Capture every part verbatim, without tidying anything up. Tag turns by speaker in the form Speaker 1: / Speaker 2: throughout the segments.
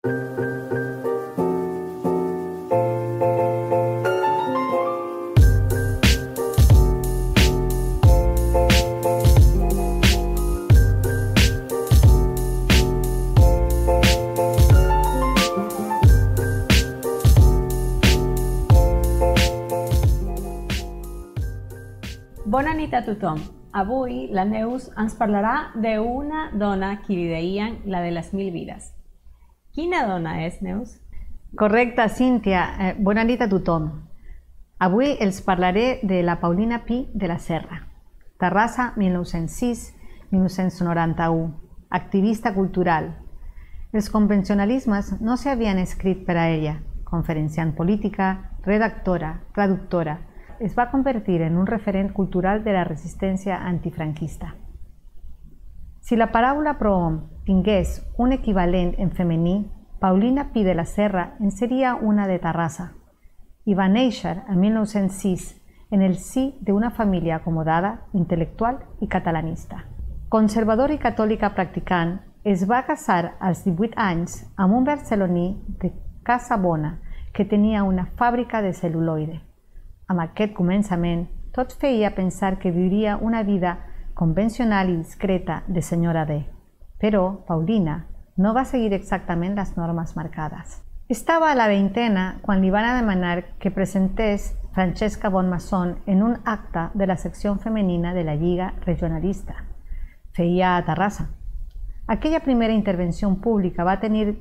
Speaker 1: Bona nit a tothom. Avui la Neus ens parlarà d'una dona que li deien la de les mil vides. Quina dona és, Neus?
Speaker 2: Correcte, Cíntia. Eh, bona nit a tothom. Avui els parlaré de la Paulina Pi de la Serra. Terrassa, mil nou-cents sis a mil nou-cents noranta-u. Activista cultural. Els convencionalismes no s'havien escrit per a ella. Conferenciant política, redactora, traductora. Es va convertir en un referent cultural de la resistència antifranquista. Si la paraula prohom tingués un equivalent en femení, Paulina Pi de la Serra en seria una de Terrassa. I va néixer el mil nou-cents sis en el si d'una família acomodada, intel·lectual i catalanista. Conservadora i catòlica practicant, es va casar als divuit anys amb un barceloní de Casa Bona que tenia una fàbrica de cel·luloide. Amb aquest començament, tot feia pensar que viuria una vida convencional i discreta de senyora D. Però Paulina no va seguir exactament les normes marcades. Estava a la veintena quan li van demanar que presentés Francesca Bonmason en un acte de la secció femenina de la Lliga Regionalista. Feia a Terrassa. Aquella primera intervenció pública va tenir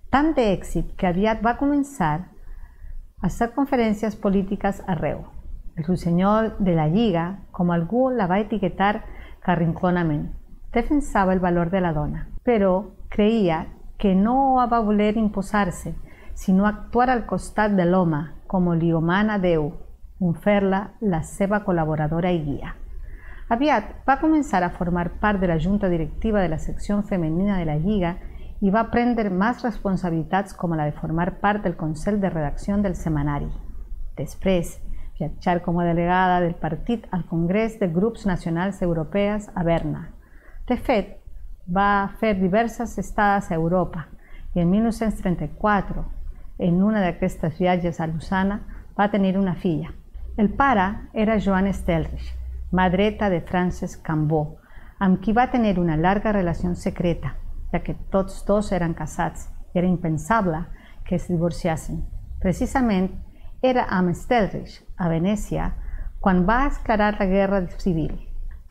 Speaker 2: tant d'èxit que aviat va començar a hacer conferències polítiques arreu. El ruiseñor de la Lliga, com algú la va etiquetar carrinconament, defensava el valor de la dona, però creia que no va voler imposar-se, sinó actuar al costat de l'home, com li humana Déu, en fer-la la seva col·laboradora i guia. Aviat va començar a formar part de la junta directiva de la secció femenina de la Lliga i va prendre més responsabilitats com la de formar part del Consell de Redacció del Setmanari. Després, viatjar com a delegada del partit al Congrés de Grups Nacionals Europees a Berna. De fet, va fer diverses estades a Europa i en mil nou-cents trenta-quatre, en una d'aquestes viatges a Lausana, va tenir una filla. El pare era Joan Estelrich, mà dreta de Frances Cambó, amb qui va tenir una llarga relació secreta, ja que tots dos eren casats i era impensable que es divorciassin. Precisament era amb Estelrich, a Venècia, quan va esclatar la guerra civil.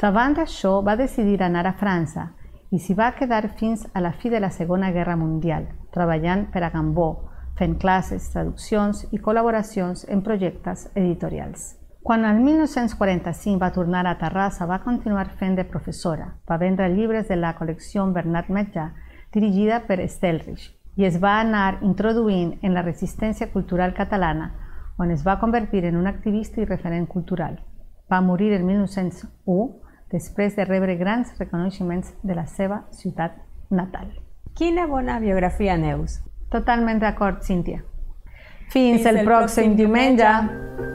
Speaker 2: Davant d'això va decidir anar a França i s'hi va quedar fins a la fi de la Segona Guerra Mundial, treballant per a Cambó, fent classes, traduccions i col·laboracions en projectes editorials. Quan el mil nou-cents quaranta-cinc va tornar a Terrassa, va continuar fent de professora. Va vendre llibres de la col·lecció Bernat Metjà, dirigida per Estelrich, i es va anar introduint en la resistència cultural catalana, on es va convertir en un activista i referent cultural. Va morir el mil nou-cents u, després de rebre grans reconeixements de la seva ciutat natal.
Speaker 1: Quina bona biografia, Neus!
Speaker 2: Totalment d'acord, Cíntia. Fins el pròxim diumenge!